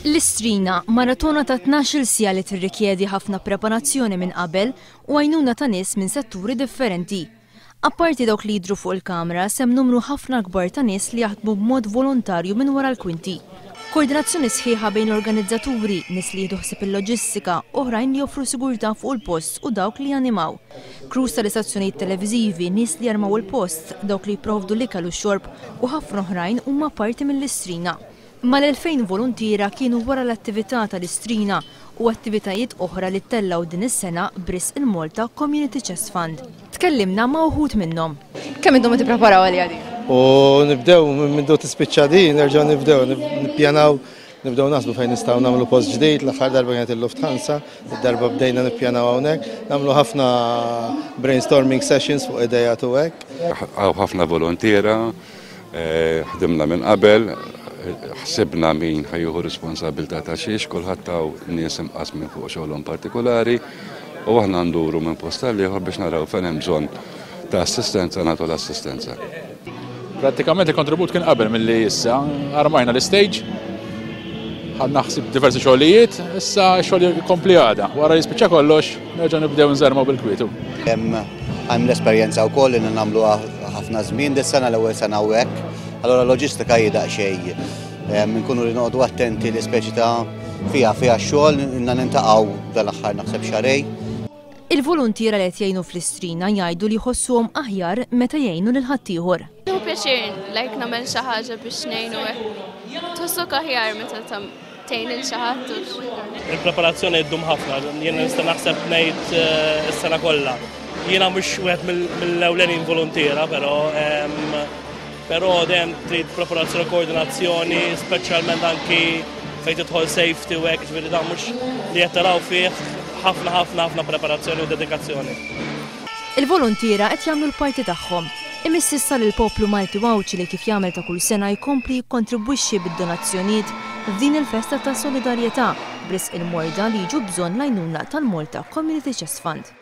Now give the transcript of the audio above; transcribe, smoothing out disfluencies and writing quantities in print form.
L-Istrina, maratona ta' 12-il siegħa li tirrikjedi ħafna preparazzjoni minn qabel u għajnuna ta' nies minn setturi differenti. Apparti dawk li jidhru fuq il-kamra, sehem numru ħafna akbar ta' nies li jaħdmu b'mod volontarju minn wara l-kwinti. Koordinazzjoni sħiħa bejn l-organizzaturi, nies li jieħdu ħsieb il-loġistika, oħrajn li joffru sigurtà fuq il-post u dawk li janimaw. Crews tal-istazzjonijiet televiżivi, nies li jarmaw il-post, dawk li jipprovdu l-ikel u x-xorb u ħafna oħrajn huma parti mill-Istrina. Mal-2,000 voluntiera kienu wara l-attività tal-Istrina u attivitajiet oħra li ttellgħu din is-sena b'risq il-Malta Community Chest Fund. Tkellimna ma' uħud minnhom. Kemm intom qed tippreparaw għaliha din? U nibdew minn mindu tispiċċa din, nerġgħu nibdew nippjanaw, nibdew naħsbu fejn nistgħu nagħmlu post ġdid, l-aħħar darba kienet il-Lufthansa, id-darba bdejna nippjanaw hawnhekk, nagħmlu ħafna brainstorming sessions fuq idejat u hekk. Hawn ħafna voluntiera, Ħdimna minn qabel, ħsibna min ħa jieħu responsabilità ta' xiex, kulħadd hawn nies imqassmin fuq xogħolhom partikolari u aħna nduru minn post għal ieħor biex naraw fejn hemm bżonn ta' assistenza nagħtu l-assistenza. Prattikament il-kontribut kien qabel milli issa, armajna l-istage, ħadna ħsieb diversi xogħlijiet, issa x-xogħol jkompli għada. Wara li jispiċċa kollox, nerġgħu nibdew nżarmaw bil-kwietu. Hemm l-esperjenza wkoll li nagħmluha ħafna żmien, dis-sena l-ewwel sena u hekk. Allura loġistika hi daqsxejn nkunu li noqogħdu attenti li speċi ta' fiha fiha x-xogħol ilna nintaqgħu dal-aħħar naħseb xarej. Il-voluntiera li qed jgħinu fl-Istrina jgħidu li jħossuhom aħjar meta jgħinu lil ħaddieħor. Nieħu pjaċir like nagħmel xi ħaġa biex ngħinu hekk. Tħossok aħjar meta tgħin lil xi ħadd u. Il-preparazzjoni ddum ħafna, jien nista' naħseb ngħid eh, is-sena kollha. Jiena mhux wieħed mill-ewlenin voluntiera, però però dejjem trid preparazzjoni koordinazzjoni, speċjalment anki fejn tidħol safety u hekk, ġifieri dan mhux li qed taraw fih ħafna ħafna ħafna preparazzjoni u dedikazzjoni. Il-voluntiera qed jagħmlu l-parti tagħhom. Imiss issa lill-poplu Malti u Għawdxi li kif jagħmel ta' kull sena jkompli jikkontribwixxi bid-donazzjonijiet f'din il-festa ta' solidarjetà b'risq il-morda li jiġu bżonn l-għajnuna tal-Malta Community Chest Fund.